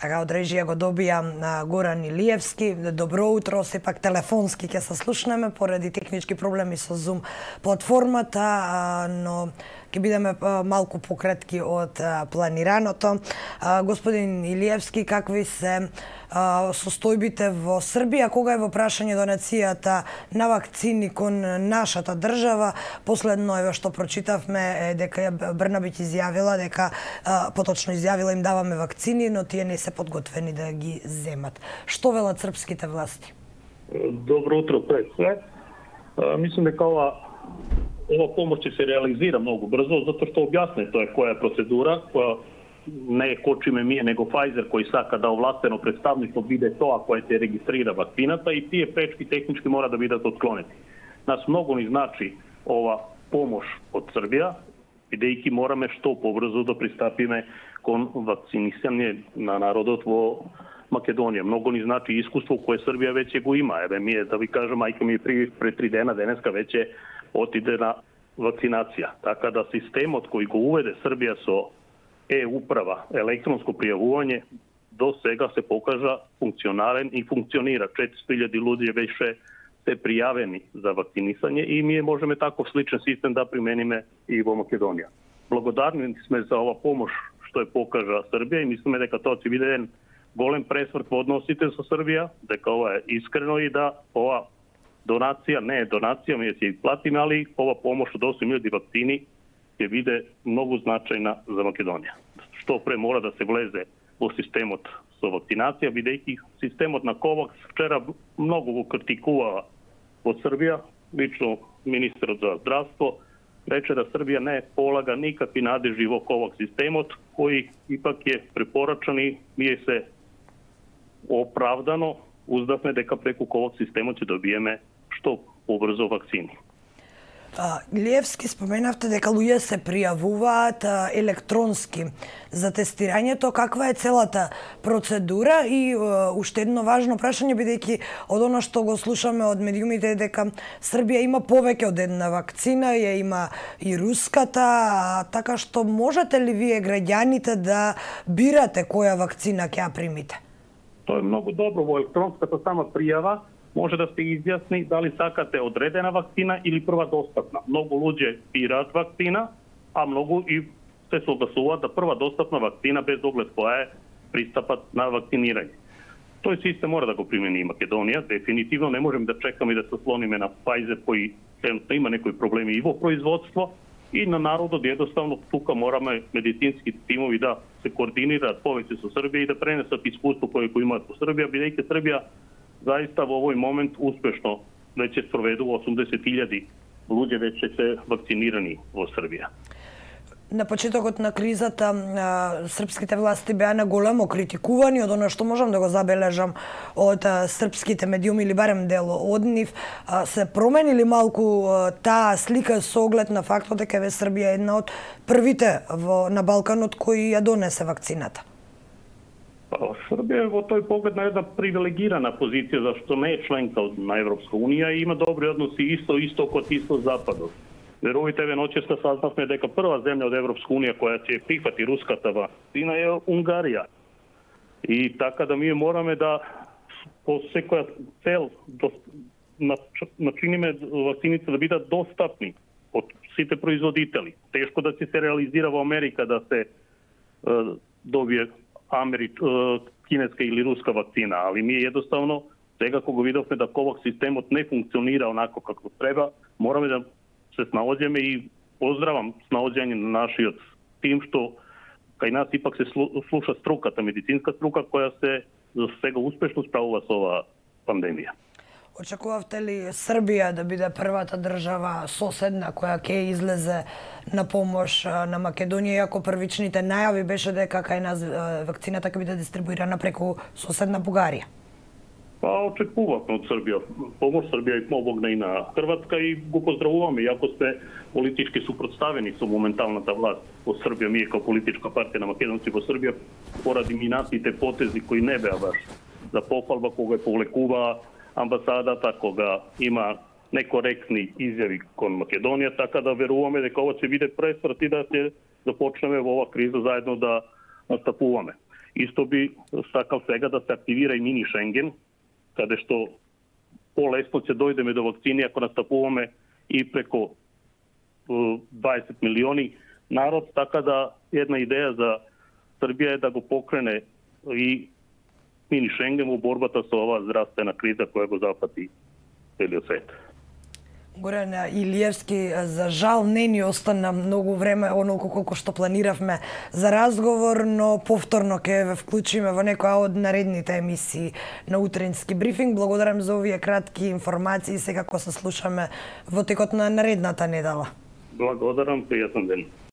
Така од режија го добија Горан Илиевски. Добро утро, сепак телефонски ќе се слушнеме поради технички проблеми со Zoom платформата, но ќе бидеме малку пократки од планираното. Господин Илиевски, какви се состојбите во Србија, кога е во прашање донацијата на вакцини кон нашата држава? Последно е што прочитавме е дека Брнабиќ изјавила дека, поточно изјавила, им даваме вакцини, но тие не се подготвени да ги земат. Што велат српските власти? Добро утро пред све. Мислам дека ова помош ќе се реализира многу брзо, затоа што објаснето е која е процедура, која не е кочиме ние, него Pfizer кој сака да овластено представништво биде тоа кој ќе регистрира вакцината и тие пречки технички мора да бидат отклонети. Нас многу ни значи ова помош од Србија, бидејќи мораме што побрзо да пристапиме кон вакцинисање на народот во Македонија. Многу ни значи искуство кое Србија веќе го има. Еве ми да ви кажам, мајка ми пред 3 дена денеска веќе отиде на вакцинација. Така да системот кој го уведе Србија со управа, електронско пријавување, до сега се покажа функционален и функционира. 400.000 луѓе веќе се пријавени за вакцинисање и ние можеме таков сличен систем да примениме и во Македонија. Благодарни сме за ова помош што е покажа Србија и мислиме дека тоа ќе биде еден голем пресврт во односите со Србија, дека ова е искрено и да ова донација не е донација, ние ќе ја платиме, али ова помош од 8.000 вакцини ќе биде многу значајна за Македонија. Што пре мора да се влезе во системот со вакцинација, бидејќи системот на Ковакс вчера многу го критикува во Србија, лично министерот за здравство рече да Србија не полага никакви надежи во Ковакс системот, кој ипак е препорачан и ние се оправдано уздавме дека преку Ковакс системот ќе добиеме што побрзо вакцини. Илиевски, споменавте дека луѓе се пријавуваат електронски за тестирањето. Каква е целата процедура? И уште едно важно прашање, бидејќи од оно што го слушаме од медиумите дека Србија има повеќе од една вакцина, ја има и руската, така што можете ли вие граѓаните да бирате која вакцина ќе ја примите? Тоа е многу добро. Во електронската сама пријава може да се изјасни дали сакате одредена вакцина или прва достапна. Многу луѓе бираат вакцина, а многу и се согласуваат да прва достапна вакцина без оглед која е пристапат на вакцинирање. Тој систем мора да го примени и Македонија. Дефинитивно не можеме да чекаме да се слониме на Pfizer кој има некои проблеми и во производство и на народот. Едноставно тука мораме медицински тимови да се координираат повеќе со Србија и да пренесат искуство кое го имаат во Србија, бидејќи Србија заиста во овој момент успешно веќе спроведува 80.000 луѓе веќе се вакцинирани во Србија. На почетокот на кризата српските власти беа на големо критикувани, од оно што можам да го забележам од српските медиуми или барем дел од нив. Се променили малку таа слика со оглед на фактот дека Србија е една од првите на Балканот кои ја донесе вакцината? Србија е во тој поглед на една привилегирана позиција, зашто не е членка на Европска унија и има добри односи исто истокот, исто западот. Верувате, ноќеска сазнавме дека прва земја од Европска унија која ќе прифати руската вакцина е Унгарија. И така да ние мораме да по секоја цел начиниме вакцините да бидат достапни од сите производители. Тешко да се реализира во Америка да се добие кинеска или руска вакцина, али ние едноставно сега кога видовме да Ковакс системот не функционира онако како треба, мораме да се снаоѓаме и поздравам снаоѓање на нашиот тим што кај нас ипак се слуша струката, медицинска струка која се за сега успешно справува со оваа пандемија. Очекувавте ли Србија да биде првата држава соседна која ќе излезе на помош на Македонија, иако првичните најави беше дека кај нас вакцината ќе биде дистрибуирана преку соседна Бугарија? Очекувавме од Србија помош. Србија и помогна и на Хрватска и го поздравуваме, иако сме политички супротставени со моменталната власт во Србија. Ние како политичка партија на македонци во Србија поради минатите потези кои не беа баш за похвалба, кога повлекува амбасадата, кога има некоректни изјави кон Македонија, така да веруваме дека ова ќе биде пресврт и да ќе започнеме во ова криза заедно да настапуваме. Исто би сакал сега да се активира и мини Шенген, каде што полесно ќе дојдеме до вакцини ако настапуваме и преко 20 милиони народ, така да една идеја за Србија е да го покрене и мини Шенген во борбата со оваа здравствена криза која го запати целиот свет. Горан Илиевски, за жал не ни остана многу време, онолку колку што планиравме за разговор, но повторно ќе ве вклучиме во некоја од наредните емисии на утрински брифинг. Благодарам за овие кратки информации, секако се слушаме во текот на наредната недела. Благодарам, пријатен ден.